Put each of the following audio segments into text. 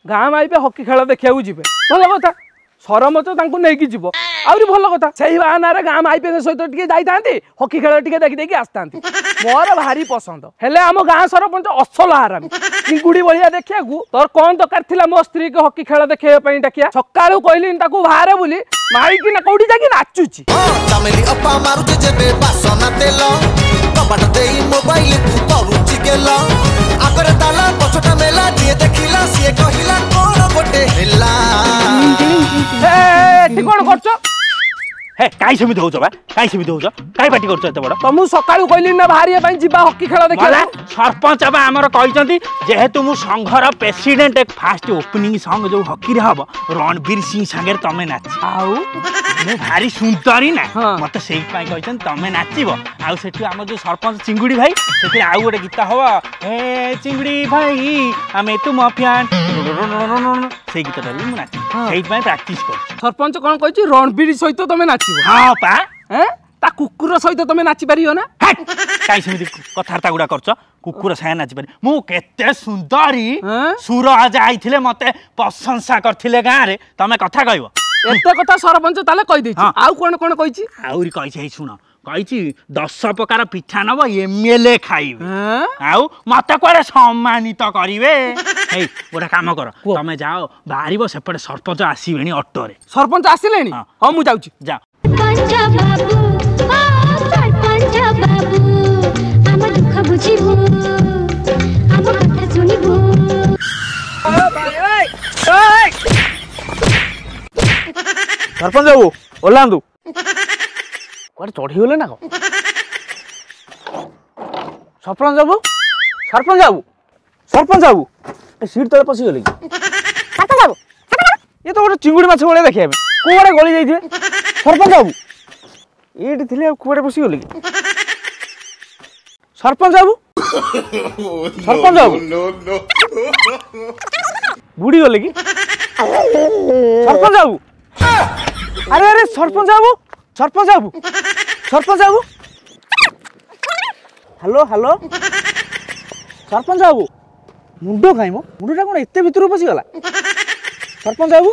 ଗାଁ ମାଇପେ ହକି ଖେଳ ଦେଖିବାକୁ ଯିବେ, ଭଲ କଥା। ସରପଞ୍ଚ ତାଙ୍କୁ ନେଇକି ଯିବ, ଆହୁରି ଭଲ କଥା। ସେଇ ବାହାନାରେ ଗାଁ ମାଇପେଙ୍କ ସହିତ ଟିକେ ଯାଇଥାନ୍ତି, ହକି ଖେଳ ଟିକେ ଦେଖିଦେଇକି ଆସିଥାନ୍ତି। ମୋର ଭାରି ପସନ୍ଦ। ହେଲେ ଆମ ଗାଁ ସରପଞ୍ଚ ଅସଲ ହାରାମି, ଚିଙ୍ଗୁଡି ଭଳିଆ ଦେଖିବାକୁ। ତୋର କଣ ଦରକାର ଥିଲା ମୋ ସ୍ତ୍ରୀକୁ ହକି ଖେଳ ଦେଖେଇବା ପାଇଁ ଡାକିଆ? ସକାଳୁ କହିଲିନି ତାକୁ ବାହାରେ ବୋଲି, ମାଇକି ନା କୋଉଠି ଯାଇକି ନାଚୁଛି। ଚାମେଲି ଅପା ମାରୁଛି ଯେବେ ବାସନା ତେଲ, କବାଟ ଦେଇ ମୋବାଇଲ କୁ କରୁଛି ଗେଲ। ଆଗରେ ତାଲା ପଛଟା ମେଲା, ଯିଏ ଦେଖିଲା ସିଏ କହିଲା କଣ ଗୋଟେ ହେଲା। ଏଠି କଣ କରୁଛ? ହେ, କାଇଁ ସେମିତି ହଉଛ ବା? କାଇଁ ସେମିତି ହଉଛ? କାଇଁ ପାଟି କରୁଛ ଏତେ ବଡ? ତମକୁ ସକାଳୁ କହିଲି ନା ବାହାରିବା ପାଇଁ, ଯିବା ହକି ଖେଳ ଦେଖିବା। ସରପଞ୍ଚ ବା ଆମର କହିଛନ୍ତି, ଯେହେତୁ ମୁଁ ସଂଘର ପ୍ରେସିଡେଣ୍ଟ, ଫାଷ୍ଟ ଓପନିଂ ସଙ୍ଗ ଯୋଉ ହକିରେ ହବ ରଣବୀର ସିଂ ସାଙ୍ଗରେ ତମେ ନାଚ। ଆଉ ମୁଁ ଭାରି ସୁନ୍ଦରୀ ନା, ମତେ ସେଇଥିପାଇଁ କହିଛନ୍ତି ତମେ ନାଚିବ। ଆଉ ସେଠୁ ଆମର ଯୋଉ ସରପଞ୍ଚ ଚିଙ୍ଗୁଡି ଭାଇ, ସେଥିରେ ଆଉ ଗୋଟେ ଗୀତ ହବ, ହେ ଚିଙ୍ଗୁଡି ଭାଇ ଆମେ ତୁମ ଫ୍ୟାନ୍, ସେଇ ଗୀତଟା ବି ମୁଁ ନାଚିବି। ସେଇଥିପାଇଁ ପ୍ରାକ୍ଟିସ କରୁଛି। ସରପଞ୍ଚ କଣ କହିଛି? ରଣବୀର ସହିତ ତମେ ନାଚିବ? ହଁ ପା। ତା କୁକୁର ସହିତ ତମେ ନାଚି ପାରିବ ନା? କାଇଁ ସେମିତି କଥାବାର୍ତ୍ତା ଗୁଡା କରୁଛ? କୁକୁର ସାଙ୍ଗେ ନାଚିପାରି? ମୁଁ କେତେ ସୁନ୍ଦରୀ, ସୁରଜ ଆଇଥିଲେ ମତେ ପ୍ରଶଂସା କରିଥିଲେ ଗାଁରେ। ତମେ କଥା କହିବ। ଏତେ କଥା ସରପଞ୍ଚ ତାହେଲେ କହିଦେଇଛି? ଆଉ କଣ କଣ କହିଛି? ଆହୁରି କହିଛି, ହେଇ ଶୁଣ, କହିଛି 10 ପ୍ରକାର ପିଠା ନବ, ଏମଏଲଏ ଖାଇବେ, ଆଉ ମତେ କୁଆଡେ ସମ୍ମାନିତ କରିବେ। ହେଇ, ଗୋଟେ କାମ କର, ତମେ ଯାଅ ବାହାରିବ, ସେପଟେ ସରପଞ୍ଚ ଆସିବେଣି ଅଟୋରେ। ସରପଞ୍ଚ ଆସିଲେଣି? ହଁ, ମୁଁ ଯାଉଛି। ଯାଅ। ସରପଞ୍ଚ ବାବୁ, ଓହ୍ଲାନ୍ତୁ। କୁଆଡ଼େ ଚଢ଼ିଗଲେ ନା କଣ? ସରପଞ୍ଚ ବାବୁ, ସରପଞ୍ଚ ବାବୁ, ସରପଞ୍ଚ ବାବୁ, ଏ ସିଟ୍ ତଳେ ପଶିଗଲେ କି? ଇଏ ତ ଗୋଟେ ଚିଙ୍ଗୁଡ଼ି ମାଛ ଭଳିଆ ଦେଖିବା ପାଇଁ, କୁଆଡ଼େ ଗଳି ଯାଇଥିବେ? ସରପଞ୍ଚ ବାବୁ ଏଇଠି ଥିଲେ, ଆଉ କୁଆଡ଼େ ପଶିଗଲେ କି? ସରପଞ୍ଚ ବାବୁ, ସରପଞ୍ଚ ବାବୁ ବୁଡ଼ିଗଲେ କି? ସରପଞ୍ଚ ବାବୁ, ଆରେ ଆରେ, ସରପଞ୍ଚ ବାବୁ, ସରପଞ୍ଚ ବାବୁ, ସରପଞ୍ଚ ବାବୁ, ହ୍ୟାଲୋ ହ୍ୟାଲୋ, ସରପଞ୍ଚ ବାବୁ, ମୁଣ୍ଡ କାଇଁ ମୋ? ମୁଣ୍ଡଟା କ'ଣ ଏତେ ଭିତରକୁ ପଶିଗଲା? ସରପଞ୍ଚ ବାବୁ,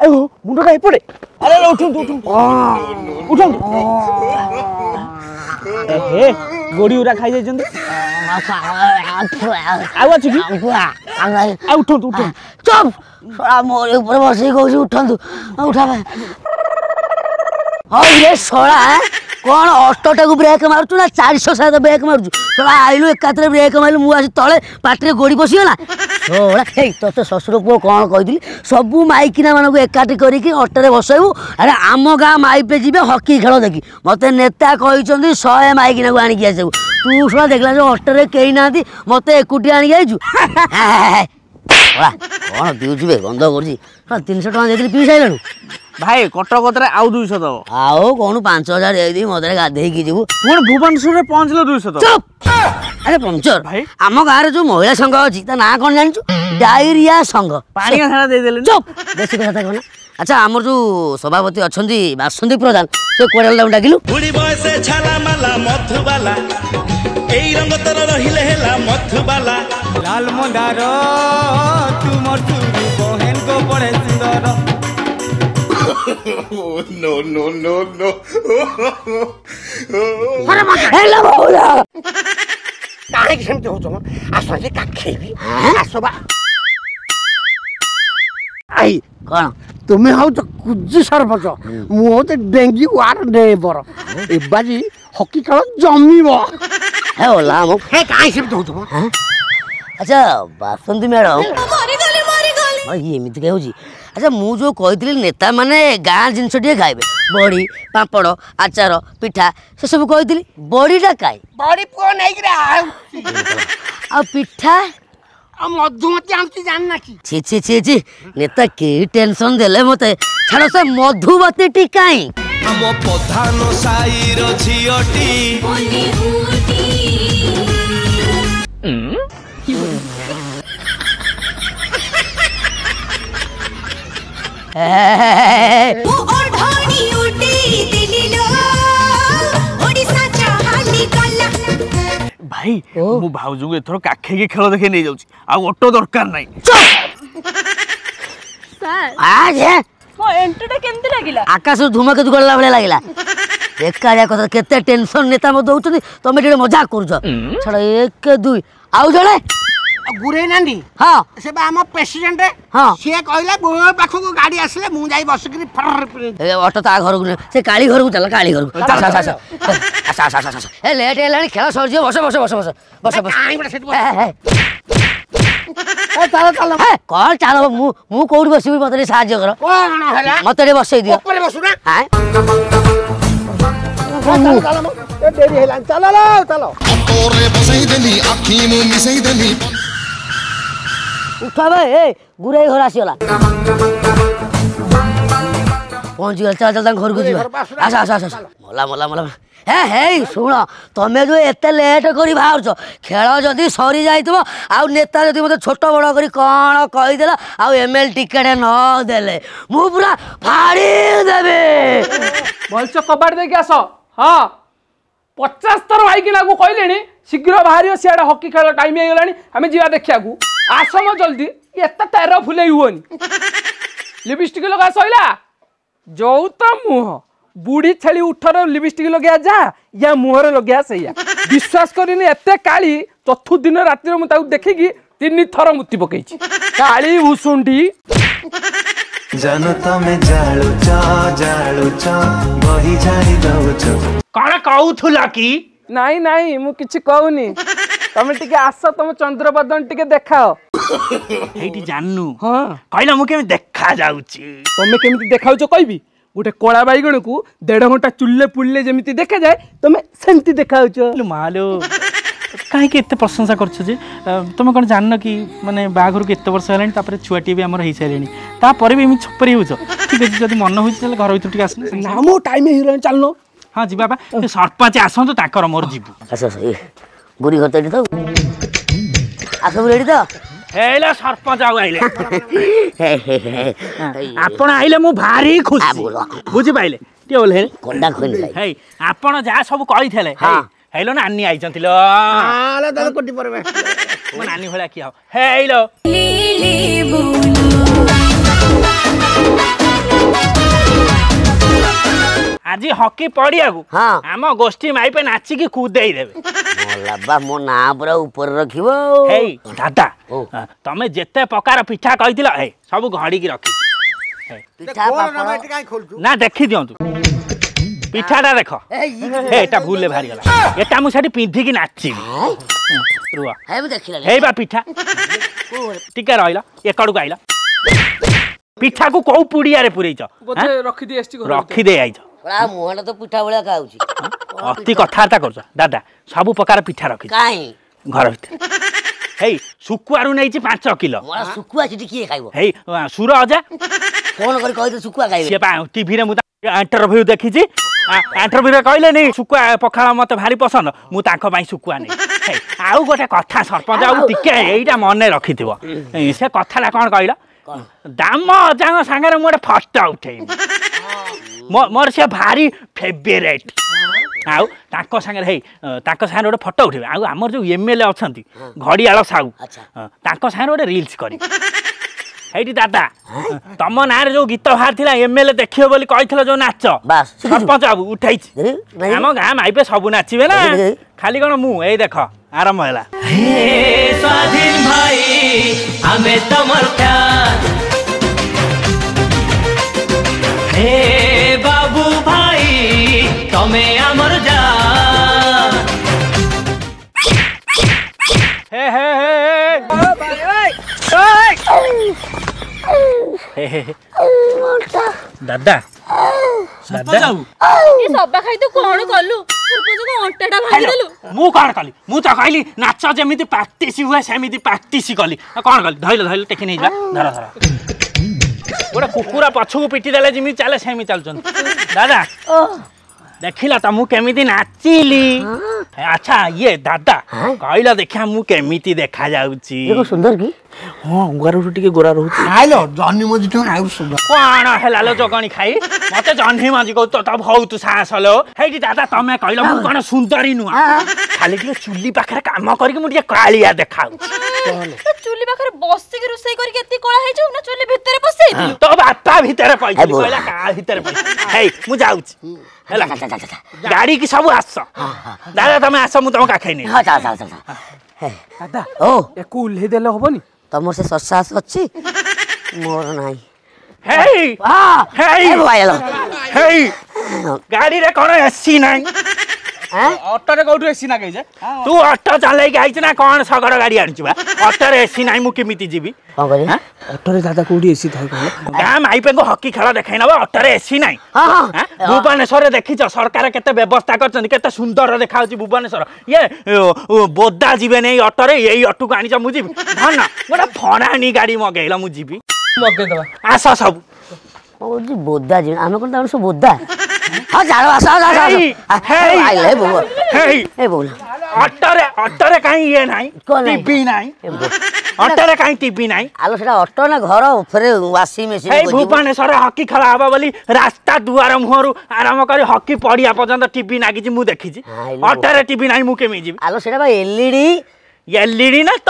ଏ ମୁଣ୍ଡଟା ଏପଟେ। ଆରେ ଉଠନ୍ତୁ ଉଠନ୍ତୁ ଉଠନ୍ତୁ। ହେ, ଗୋଡ଼ି ଗୁରା ଖାଇ ଯାଇଛନ୍ତି। ଆଉ ଅଛି କି? ଆଉ ଉଠନ୍ତୁ ଉଠନ୍ତୁ। ଚୁପ୍, ଶଳା ମୋରି ଉପରେ ବସିକି କହୁଛି ଉଠନ୍ତୁ, ଉଠା। ହଉ ରେ ଶଳା, କ'ଣ ଅଟୋଟାକୁ ବ୍ରେକ୍ ମାରୁଛୁ ନା 407 ବ୍ରେକ୍ ମାରୁଛୁ? ଶଳା ଆଇଲୁ ଏକାଥରେ ବ୍ରେକ୍ ମାରିଲୁ, ମୁଁ ଆସି ତଳେ, ପାଟିରେ ଗୋଡ଼ି ପଶିଗଲା ଶଳା। ହେଇ, ତୋତେ ଶ୍ୱଶୁର ପୁଅ କ'ଣ କହିଥିଲି? ସବୁ ମାଇକିନା ମାନଙ୍କୁ ଏକାଠି କରିକି ଅଟୋରେ ବସେଇବୁ। ଆରେ ଆମ ଗାଁ ମାଇପେ ଯିବେ ହକି ଖେଳ ଦେଖି, ମୋତେ ନେତା କହିଛନ୍ତି 100 ମାଇକିନାକୁ ଆଣିକି ଆସିବୁ। ତୁ ଶଳା ଦେଖିଲା ଯେ ଅଟୋରେ କେହି ନାହାନ୍ତି, ମୋତେ ଏକୁଟିଆ ଆଣିକି ଆଇଛୁ। ଶଳା କ'ଣ ପିଉଛୁ ବେ, ଗନ୍ଧ କରୁଛି। 300 ଟଙ୍କା ଦେଇଥିଲି, ପିଇ ସାରିଲାଣୁ। ଭାଇ, କଟକ କତିରେ ଆଉ 200 ଦବ। ଆଉ କଣ, 5000 ଦେଇଦେବି, ମଦରେ ଗାଧେଇକି ଯିବୁ। ପୁଣି ଭୁବନେଶ୍ୱରରେ ପହଞ୍ଚିଲେ 200 ଦବ। ଚୁପ୍। ଆରେ ପଞ୍ଚର ଭାଇ, ଆମ ଗାଁରେ ଯୋଉ ମହିଳା ସଂଘ ଅଛି ତା ନାଁ କଣ ଜାଣିଛୁ? ଡାଇରିଆ ସଂଘ। ପାଣିଆ ଝାଡ଼ା ଦେଇଦେଲେ। ଚୁପ୍, ବେଶୀ କଥା କହନା। ଆଚ୍ଛା, ଆମର ଯୋଉ ସଭାପତି ଅଛନ୍ତି ବାସନ୍ତୀ ପ୍ରଧାନ, ସେ କୁଆଡ଼େ ତାଙ୍କୁ ଡାକିଲୁ? ବୁଢୀ ବୟସେ ଛାଲା ମାଲା ମଧୁବାଲା, ଏଇ ରଙ୍ଗ ତୋର ରହିଲେ ହେଲା ମଧୁବାଲା। ଲାଲ ମନ୍ଦାର ତୁମର ଚୁରୁ ବହେନ ଗୋ ବড়ে ସୁନ୍ଦର। No, no, no, no. ହେଲା ବହୁଳ। କାହିଁକି ସେମିତି ହଉଛ ମ? ଆସ ଯେ କାଖେଇବି, ଆସ ବା। I କଣ ତୁମେ ହଉଛ କୁଜି ସରପଞ୍ଚ, ମୁଁ ହଉଛି ଡେଙ୍ଗି ୱାର୍ଡ ମେମ୍ବର। ଏବାଜି ହକି ଖେଳ ଜମିବ। ହେ ଓଲା ଆମ। ହେ, କାହିଁ ସେମିତି ହଉଛ ମ? ଆଚ୍ଛା ବାସନ୍ତୀ ମ୍ୟାଡ଼ାମ, ଇଏ ଏମିତି କାଇଁ ହଉଛି? ଆଚ୍ଛା, ମୁଁ ଯୋଉ କହିଥିଲି ନେତାମାନେ ଗାଁ ଜିନିଷ ଟିକେ ଖାଇବେ, ବଡ଼ି, ପାମ୍ପଡ଼, ଆଚାର, ପିଠା, ସେସବୁ କହିଥିଲି, ବଡ଼ିଟା କାଇଁ? ବଡ଼ି ପୁଅ ନେଇକିରି ଆଉଛି। ଆଉ ପିଠା? ଆଉ ମଧୁମତି ଆଣୁଛି, ଜାଣିନା କି? ଛି ଛି ଛି ଛି, ନେତା କି ଟେନସନ ଦେଲେ ମତେ। ଛାଡ଼, ସେ ମଧୁମତିଟି କାଇଁ? ଆମ ପ୍ରଧାନ ସାଇର ଝିଅଟି। ଭାଇ, ମୁଁ ଭାଉଜଙ୍କୁ ଏଥର କାଖେଇକି ଖେଳ ଦେଖେଇ ନେଇଯାଉଛି, ଆଉ ଅଟୋ ଦରକାର ନାହିଁ। ମୋ ଏଣ୍ଟ୍ରିଟା କେମିତି ଲାଗିଲା? ଆକାଶରୁ ଧୂମକେତୁ ଗଲା ଭଳିଆ ଲାଗିଲା। ବେକାରିଆ କଥା, କେତେ ଟେନସନ ନେତା ମତେ ଦଉଛନ୍ତି, ତମେ ଟିକେ ମଜାକ କରୁଛ। ଛାଡ଼, 1 2 ଆଉ ଜଣେ ଗୁରେଇ ନାଣ୍ଡି। ହଁ, ସେ ବା ଆମ ପ୍ରେସିଡେଣ୍ଟ। ହଁ, ସିଏ କହିଲା ମୋ ପାଖକୁ ଗାଡି ଆସିଲେ ମୁଁ ଯାଇ ବସିକିରି। ଅଟୋ ତା ଘରକୁ, ସେ କାଳି ଘରକୁ ଚାଲ, କାଳି ଘରକୁ। ଆସ ଆସ ଆସ ଆସ ଆସ ଆସ ଆସ, ଏ ଲେଟ୍ ହେଲାଣି, ଖେଳ ସରିଯିବ। ବସ ବସ ବସ ବସ ବସ ବସ। ଚାଲ ଚାଲ। କଣ ଚାଲ? ମୁଁ କୋଉଠି ବସିବି? ମତେ ଟିକେ ସାହାଯ୍ୟ କର। କଣ ହେଲା? ମତେ ଟିକେ ବସେଇ ଦିଅ। ଉପରେ ବସୁନା। ଡେରି ହେଲାଣି, ଚାଲ ଚାଲ। ବସେଇ ଦେଲି ଆଖି ମୁଁ ମିଶେଇ ଦେଲି। ଉଠ ବେ, ଏ ଗୁରେଇ ଘର ଆସିଗଲା, ପହଞ୍ଚିଗଲା। ଚାଲ ଚାଲ, ତାଙ୍କ ଘରକୁ ଯିବା। ଆସ ଆସ ଆସ। ମଲା ମଲା ମଲା। ହେ ହେଇ ଶୁଣ, ତମେ ଯୋଉ ଏତେ ଲେଟ୍ କରି ବାହାରୁଛ, ଖେଳ ଯଦି ସରି ଯାଇଥିବ ଆଉ ନେତା ଯଦି ମୋତେ ଛୋଟ ବଡ଼ କରି କ'ଣ କହିଦେଲା ଆଉ ଏମ୍ ଏଲ୍ ଟିକେଟ୍ ନ ଦେଲେ ମୁଁ ପୁରା ଫାଡ଼ି ଦେବି। ଭଲସେ କବାଟ ଦେଇକି ଆସ। ହଁ, 50 ଥର ଭାଇକିନାକୁ କହିଲେଣି, ଶୀଘ୍ର ବାହାରିବ, ସିଆଡ଼େ ହକି ଖେଳ ଟାଇମ୍ ହେଇଗଲାଣି, ଆମେ ଯିବା ଦେଖିବାକୁ। ଆସ ମ ଜଲ୍ଦି, ଏତେ ତେର ଫୁଲେଇ ହୁଅନି। ଲିପଷ୍ଟିକ୍ ଲଗା ସଇଲା? ଯୋଉ ତ ମୁହଁ ବୁଢ଼ୀ ଛେଳି ଉଠରେ ଲିପଷ୍ଟିକ୍ ଲଗେଇବା ଯା, ୟା ମୁହଁରେ ଲଗେଇବା ସେଇଆ। ବିଶ୍ୱାସ କରିନି, ଏତେ କାଳି, ଚତୁର୍ଥ ଦିନ ରାତିରେ ମୁଁ ତାକୁ ଦେଖିକି 3 ଥର ମୁତି ପକେଇଛି। କାଳି ଭୁଷୁଣ୍ଡି। ଜାନ ତମେ ଜାଳୁଛ ଜାଳୁଛ ବହି ଜାଳି ଦଉଛ। କଣ କହୁଥିଲ କି? ନାଇଁ ନାଇଁ, ମୁଁ କିଛି କହୁନି, ତମେ ଟିକେ ଆସ, ତମ ଚନ୍ଦ୍ରବଦନ ଟିକେ ଦେଖାଅ। ଏଇଠି ଜାନୁ। ହଁ, କହିଲା ମୁଁ କେମିତି ଦେଖା ଯାଉଛି? ତମେ କେମିତି ଦେଖାଉଛ କହିବି? ଗୋଟେ କଳା ବାଇଗଣକୁ ଦେଢ଼ ଘଣ୍ଟା ଚୁଲିରେ ପୁଡ଼ିଲେ ଯେମିତି ଦେଖାଯାଏ, ତମେ ସେମିତି ଦେଖାଉଛ। ମାଲୋ, କାହିଁକି ଏତେ ପ୍ରଶଂସା କରୁଛ ଯେ? ତମେ କ'ଣ ଜାଣିନ କି, ମାନେ ବାହାଘରକୁ ଏତେ ବର୍ଷ ହେଲାଣି, ତାପରେ ଛୁଆଟିଏ ବି ଆମର ହେଇସାରିଲେଣି, ତାପରେ ବି ଏମିତି ଛପରି ହେଉଛ? ଠିକ୍ ଅଛି, ଯଦି ମନ ହେଉଛି ତାହେଲେ ଘର ଭିତରୁ ଟିକେ ଆସୁନ। ନା, ମୋ ଟାଇମ୍ ହେଇଗଲାଣି, ଚାଲୁନ। ହଁ ଯିବା ବା, ସରପଞ୍ଚ ଆସନ୍ତୁ, ତାଙ୍କର ମୋର ଯିବୁ। ଆସ ଆସ, ବୁଢ଼ୀ ଘର ତ ଏଠି ତ। ଆସ, ରେଡ଼ି ତ? ହେଇଲା ସରପଞ୍ଚ ଆଉ ଆଇଲେ। ଆପଣ ଆଇଲେ ମୁଁ ଭାରି ଖୁସି, ବୁଝିପାରିଲେ? ଟିକେ ଓହ୍ଲେଇ କଣ୍ଡା ଖୋଲି। ହେଇ, ଆପଣ ଯାହା ସବୁ କହିଥିଲେ ହେଇଲୋ, ନାନୀ ଆଇଛନ୍ତି ଲୋ। ମୋ ନାନୀ ଭଳିଆ କିଏ ହବ? ହେଇଲୋ। ଆଜି ହକି ପଡିଆକୁ ଆମ ଗୋଷ୍ଠୀ ମାଇପେ ନାଚିକି କୁଦେଇ ଦେବେ। ବାବା, ମୋ ନାଁ ପୁରା ଉପରେ ରଖିବ। ହେଇ ଦାଦା, ତମେ ଯେତେ ପ୍ରକାର ପିଠା କହିଥିଲ, ହେଇ ସବୁ ଘଡ଼ିକି ରଖିଛି। ନା ଦେଖି ଦିଅନ୍ତୁ ପିଠାଟା, ଦେଖ। ଏଟା ଭୁଲରେ ବାହାରିଗଲା, ଏଟା ମୁଁ ସେଠି ପିନ୍ଧିକି ନାଚିବି। ରୁହ, ହେଇ ବା ପିଠା ଟିକେ ରହିଲ, ଏକଡ଼କୁ ଆଇଲ। ପିଠାକୁ କୋଉ ପୁଡ଼ିଆରେ ପୁରେଇଛ? ରଖିଦେଇ ଆଇଛ। ମୁହଁଟା ତ ପିଠା ଭଳିଆ ଖାଉଛି। ଅତି କଥାବାର୍ତ୍ତା କରୁଛ। ଦାଦା, ସବୁ ପ୍ରକାର ପିଠା ରଖିଛି ଘର ଭିତରେ। ହେଇ, ଶୁଖୁଆରୁ ନେଇଛି 5 କିଲୋ। ଶୁଖୁଆ ସେଠି କିଏ ଖାଇବ? ହେଇ, ସୁର ଅଜା ଫୋନ କରି କହିଲେ ଶୁଖୁଆ ଖାଇବେ। ସିଏ ପା ଟିଭିରେ ମୁଁ ଇଣ୍ଟରଭ୍ୟୁ ଦେଖିଛି, ଇଣ୍ଟରଭ୍ୟୁରେ କହିଲେନି ଶୁଖୁଆ ପଖାଳ ମତେ ଭାରି ପସନ୍ଦ, ମୁଁ ତାଙ୍କ ପାଇଁ ଶୁଖୁଆ ନେଇ। ଆଉ ଗୋଟେ କଥା ସରପଞ୍ଚ, ଆଉ ଟିକେ ଏଇଟା ମନେ ରଖିଥିବ, ସେ କଥାଟା କ'ଣ କହିଲ? ଦାମ ଅଜାଙ୍କ ସାଙ୍ଗରେ ମୁଁ ଗୋଟେ ଫଟୋ ଉଠେଇବି, ମୋର ସେ ଭାରି ଫେଭରେଟ୍। ଆଉ ତାଙ୍କ ସାଙ୍ଗରେ, ହେଇ ତାଙ୍କ ସାଙ୍ଗରେ ଗୋଟେ ଫଟୋ ଉଠେଇବେ। ଆଉ ଆମର ଯୋଉ ଏମ୍ ଏଲ୍ ଏ ଅଛନ୍ତି ଘଡ଼ିଆଳ ସାହୁ, ତାଙ୍କ ସାଙ୍ଗରେ ଗୋଟେ ରିଲ୍ସ କରିବି। ହେଇଠି ଦାଦା, ତମ ନାଁରେ ଯୋଉ ଗୀତ ବାହାରିଥିଲା, ଏମ୍ ଏଲ୍ ଏ ଦେଖିବ ବୋଲି କହିଥିଲ, ଯୋଉ ନାଚ ସରପଞ୍ଚ ବାବୁ ଉଠେଇଛି। ଆମ ଗାଁ ମାଇପେ ସବୁ ନାଚିବେ ନା, ଖାଲି କଣ ମୁଁ? ଏଇ ଦେଖ, ଆରମ୍ଭ ହେଲା। ସ୍ୱାଧୀନ ଭାଇ, ଆମେ ତମର ହେ ବାବୁ ଭାଇ, ତମେ ଆମର ଯା। ହେ ହେ ହେ ହେ, ଦାଦା ଦାଦା, ଏ ସବା ଖାଇ, ତୁ କଣ କଲୁ? ସରପଞ୍ଚଙ୍କ ଅଣ୍ଟାଟା ଭାଙ୍ଗିଦେଲୁ। ମୁଁ କଣ କଲି? ମୁଁ ତ କହିଲି ନାଚ ଯେମିତି ପ୍ରାକ୍ଟିସ ହୁଏ ସେମିତି ପ୍ରାକ୍ଟିସ କଲି, କଣ କଲି? ଧଇଲ ଧଇଲ, ଟେକି ନେଇଯିବା। ଧର ଧର। ଗୋଟେ କୁକୁର ପଛକୁ ପିଟି ଦେଲେ ଯେମିତି ଚାଲେ ସେମିତି ଚାଲୁଛନ୍ତି ଦାଦା। ଦେଖିଲ ତ ମୁଁ କେମିତି ନାଚିଲି। ଆଚ୍ଛା ଇଏ ଦାଦା କହିଲ ଦେଖିଆ ମୁଁ କେମିତି ଦେଖା ଯାଉଛି? ସୁନ୍ଦର କି? ହଁ, ଅଙ୍ଗାରଠୁ ଟିକେ ଗୋରା ରହୁଛି। ନାଇଁଲୋ, ଜହ୍ନି ମଞ୍ଜିଠୁ ଆଉ ସୁନ୍ଦର। କଣ ହେଲା ଲୋ ଜଗଣି ଖାଇ, ମତେ ଜହ୍ନି ମଞ୍ଜି କହୁ ତ ବହୁତ ସାହସ ଲୋ। ହେଇଠି ଦାଦା ତମେ କହିଲ ମୁଁ କଣ ସୁନ୍ଦରୀ ନୁହଁ? ଖାଲି ଟିକେ ଚୁଲି ପାଖରେ କାମ କରିକି ମୁଁ ଟିକେ କାଳିଆ ଦେଖାଉଛି। ଚୁଲି ପାଖରେ ବସିକି ରୋଷେଇ କରିକି ଏତିକି କଳା ହେଇଯିବ ନା ଚୁଲି ଭିତରେ ପଶେଇଥିଲୁ? ତୋ ବାପା ଭିତରେ ପଇଥିଲି, କହିଲା କାହା ଭିତରେ ପଇଥିଲି। ହେଇ ମୁଁ ଯାଉଛି ହେଲା, ଗାଡି କି ସବୁ ଆସ। ଦାଦା ତମେ ଆସ, ମୁଁ ତମ କାଖେଇ ନେଇ। ଦାଦା ଓ ୟାକୁ ଓହ୍ଲେଇ ଦେଲେ ହବନି? ତମର ସେ ସସାସ ଅଛି, ମୋର ନାହିଁ। ହେଇ ହେଇ ହେଇ, ଗାଡିରେ କଣ ଏସି ନାହିଁ? ଅଟୋରେ କୋଉଠୁ ଏସି ନାଗେଇ ଯେ? ତୁ ଅଟୋ ଚଲେଇକି ଆଇଛୁ ନା କଣ? ଶଗଡ଼ ଗାଡି ଆଣିଛୁ ବା? ଅଟୋରେ ଏସି ନାହିଁ, ମୁଁ କେମିତି ଯିବି? କଣ କରିବି? ଅଟୋରେ ଦାଦା କୋଉଠି ଏସି ଥାଏ କହିଲ? ଗାଁ ମାଇପେଙ୍କୁ ହକି ଖେଳ ଦେଖାଇ ନବ, ଅଟୋରେ ଏସି ନାହିଁ। ଭୁବନେଶ୍ୱରରେ ଦେଖିଛ ସରକାର କେତେ ବ୍ୟବସ୍ଥା କରିଛନ୍ତି, କେତେ ସୁନ୍ଦର ଦେଖାଯାଉଛି ଭୁବନେଶ୍ୱର। ଇଏ ବୋଦା ଯିବେନି ଏଇ ଅଟୋରେ, ଏଇ ଅଟୋକୁ ଆଣିଛ ମୁଁ ଯିବି? ଧନ ଗୋଟେ ଫଣାଣି ଗାଡି ମଗେଇଲ, ମୁଁ ଯିବି? ମଗେଇଦବା, ଆସ ସବୁ। କହୁଛି ବୋଦା ଯିବେ, ଆମେ କଣ ତାଙ୍କର ସବୁ ବୋଦା? ହଁ ଚାଲ, ଆସ ଆସ ଆସ। ଅଟୋରେ ଅଟୋରେ କାହିଁ ଇଏ ନାହିଁ, ଟିଭି ନାହିଁ ଅଟୋରେ? କାହିଁ ଟିଭି ନାହିଁ? ଆଲୋ ସେଟା ଅଟୋ ନା ଘର ଉପରେ ୱାସିଂ ମେସିନ? ଏଇ ଭୁବନେଶ୍ୱର ହକି ଖେଳ ହବ ବୋଲି ରାସ୍ତା ଦୁଆର ମୁହଁରୁ ଆରମ୍ଭ କରି ହକି ପଡିଆ ପର୍ଯ୍ୟନ୍ତ ଟିଭି ନାଗିଛି, ମୁଁ ଦେଖିଛି। ଅଟୋରେ ଟିଭି ନାହିଁ, ମୁଁ କେମିତି ଯିବି? ଆଲୋ ସେଟା ବା ଏଲଇଡି। ଏଲଇଡି ନା ତ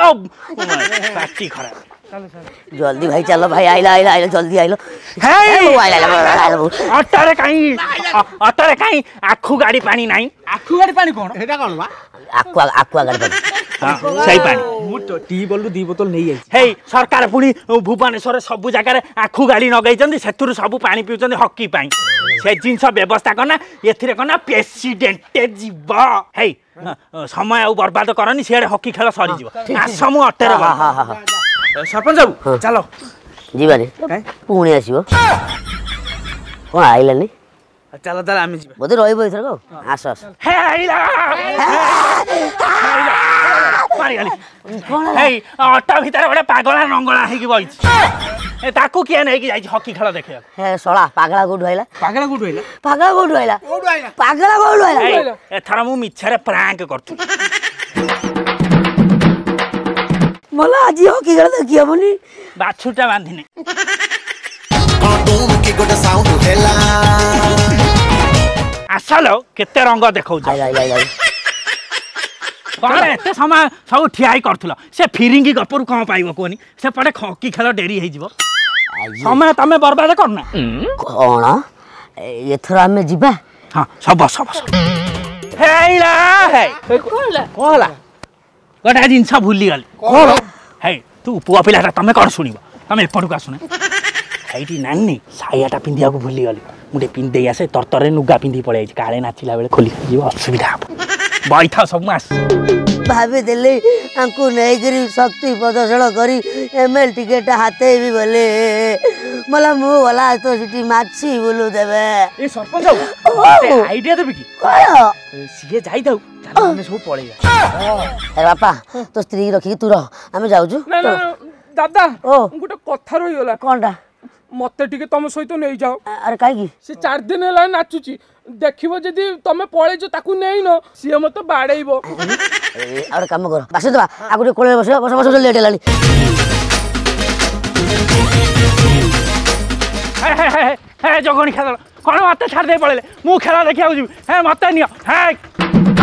ପାଟି ଖରାପ। ଜଲ୍ଦି ଭାଇ ଚାଲ ଭାଇ, ଆଇଲା ଆଇଲା ଆଇଲା, ଜଲ୍ଦି ଆଇଲ। ଅଟୋରେ କାହିଁ, ଅଟୋରେ କାହିଁ ଆଖୁ ଗାଡି ପାଣି ନାହିଁ? ଆଖୁ ଗାଡି ପାଣି କଣ? ଏଇଟା କଣ ବା? ଆକୁଆ, ଆକୁଆ ଗାଡି ପାଣି, ସେଇ ପାଣି। ମୁଁ ଟ୍ୟୁବୱେଲରୁ 2 ବୋତଲ ନେଇଯାଇଛି। ହେଇ ସରକାର ପୁଣି ଭୁବନେଶ୍ୱରରେ ସବୁ ଜାଗାରେ ଆଖୁ ଗାଡି ଲଗେଇଛନ୍ତି, ସେଥିରୁ ସବୁ ପାଣି ପିଉଛନ୍ତି ହକି ପାଇଁ। ସେ ଜିନିଷ ବ୍ୟବସ୍ଥା କନା ଏଥିରେ କନା ପ୍ରେସିଡେଣ୍ଟ ଯିବ। ହେଇ ସମୟ ଆଉ ବର୍ବାଦ କରନି, ସିଆଡ଼େ ହକି ଖେଳ ସରିଯିବ। ଆସ ମୁଁ ଅଟୋରେ। ସରପଞ୍ଚ ବାବୁ ଚାଲ ଯିବାନି, ପୁଣି ଆସିବ। କଣ ଆଇଲାନି? ଚାଲ ତାହେଲେ ଆମେ ଯିବା। ବୋଧେ ରହିବ ଏଥରକ। ଆସ ଆସ। ହେଇ ଅଟୋ ଭିତରେ ଗୋଟେ ପାଗଳା ନଙ୍ଗଳା ହେଇକି ବଇଛି, ତାକୁ କିଏ ନେଇକି ଯାଇଛି ହକି ଖେଳ ଦେଖିବାକୁ? ହେ ଶଳା, ପାଗଳା କୋଉଠୁ ଆଇଲା? ପାଗଳା କୋଉଠୁ ଆଇଲା? ପାଗଳା କୋଉଠୁ ଆଇଲା? ପାଗଳା କୋଉଠୁ ଆଇଲା? ଏଥର ମୁଁ ମିଛରେ ପ୍ରାଙ୍କ କରୁଥିଲି। ମଲା, ଆଜି ହକି ଖେଳ ଦେଖି ହବନି। ବାଛୁଟା ବାନ୍ଧିନି କି ଗୋଟେ ସାଉଣ୍ଡ ହେଲା। ଆସଲ, କେତେ ରଙ୍ଗ ଦେଖାଉଛ କଣ? ଏତେ ସମୟ ସବୁ ଠିଆ ହେଇ କରୁଥିଲ, ସେ ଫିରିଙ୍ଗି ଗପରୁ କଣ ପାଇବ କୁହନି? ସେପଟେ ହକି ଖେଳ ଡେରି ହେଇଯିବ, ସମୟ ତମେ ବର୍ବାଦ କରୁନା କଣ? ଏଥର ଆମେ ଯିବା। ହଁ ସବୁ ବସ ବସ। ହେଇଲା ହେଇ, କଣ ହେଲା? ଗୋଟେ ଜିନିଷ ଭୁଲିଗଲି। କଣ? ହେଇ ତୁ ପୁଅ ପିଲାଟା, ତମେ କଣ ଶୁଣିବ? ତମେ ଏପଟକୁ ଆସୁନା। ଏଇଠି ନାନୀ ସାୟାଟା ପିନ୍ଧିବାକୁ ଭୁଲିଗଲି, ମୁଁ ଟିକେ ପିନ୍ଧି ଆସେ। ତରତରରେ ନୁଗା ପିନ୍ଧିକି ପଳେଇ ଯାଇଛି, କାଳେ ନାଚିଲା ବେଳେ ଖୋଲି ଯିବ, ଅସୁବିଧା ହବ। ବଇଥାଅ ସବୁ, ମୁଁ ଆସୁଛି। ଭାବିଥିଲି ଆଙ୍କୁ ନେଇକିରି ଶକ୍ତି ପ୍ରଦର୍ଶନ କରି ଏମଏଲ ଟିକେଟ ହାତେଇବି ବୋଲି, ମଲା ମୁଁ ଗଲା ତ ସେଠି ମାଛି ବୁଲୁ ଦେବେ। ଏ ସରପଞ୍ଚ, ଆଇଡିଆ ଦେବି କି? କଣ? ସିଏ ଯାଇଥାଉ, ଆମେ ସବୁ ପଳେଇବା। ଆରେ ବାପା, ତୋ ସ୍ତ୍ରୀ ରଖିକି ତୁ ରହ, ଆମେ ଯାଉଛୁ। ଦାଦା ଓ ଗୋଟେ କଥା ରହିଗଲା। କଣଟା? ମତେ ଟିକେ ତମ ସହିତ ନେଇଯାଅ। ଆରେ କାହିଁକି? ସେ 4 ଦିନ ହେଲା ନାଚୁଛି, ଦେଖିବ ଯଦି ତମେ ପଳେଇଛ ତାକୁ ନେଇନ, ସିଏ ମତେ ବାଡେଇବ। ଆଉ ଗୋଟେ କାମ କର, ବାସି ଦେବା ଆକୁ ଟିକେ କୋଳରେ ବସିବ। ବସ ବସ, ଲେଟ୍ ହେଲାଣି। ଜଗଣି ଖେଳ କଣ ମତେ ଛାଡ଼ି ଦେଇ ପଳେଇଲେ? ମୁଁ ଖେଳ ଦେଖିବାକୁ ଯିବି। ହେ ମତେ ନିଅ। ହେ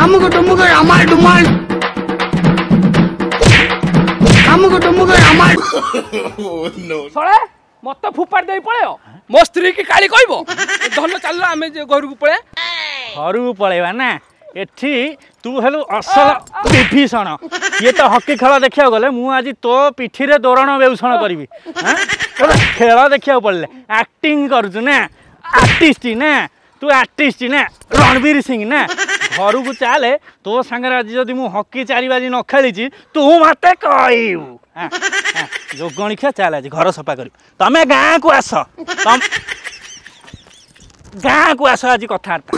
ଆମକୁ ତୁମକୁ ଅମାଲ ଡୁମାଲ, ଆମକୁ ତୁମକୁ ଅମାଲ। ଶଳା ମତେ ଫୋପାଡ଼ି ଦେଇ ପଳେଇବ, ମୋ ସ୍ତ୍ରୀ କି କାଳି କହିବ। ଧନ ଚାଲିଲ, ଆମେ ଘରକୁ ପଳେଇବା। ଘରକୁ ପଳେଇବା ନା, ଏଠି ତୁ ହେଲୁ ଅସଲ ବିଭୀଷଣ। ଇଏ ତ ହକି ଖେଳ ଦେଖିବାକୁ ଗଲେ, ମୁଁ ଆଜି ତୋ ପିଠିରେ ଦୋରଣ ବେଉଷଣ କରିବି। ଖେଳ ଦେଖିବାକୁ ପଡ଼ିଲେ ଆକ୍ଟିଂ କରୁଛୁ ନା? ଆର୍ଟିଷ୍ଟ ନା ତୁ? ଆର୍ଟିଷ୍ଟ ନା ରଣବୀର ସିଂ ନା? ଘରକୁ ଚାଲେ। ତୋ ସାଙ୍ଗରେ ଆଜି ଯଦି ମୁଁ ହକି 4 ବାଜି ନ ଖେଳିଛି, ତୁ ମତେ କହିବୁ। ଯୋଗଣୀ ଖିଆ, ଚାଲ ଆଜି ଘର ସଫା କରିବୁ। ତମେ ଗାଁକୁ ଆସ, ଗାଁକୁ ଆସ, ଆଜି କଥାବାର୍ତ୍ତା।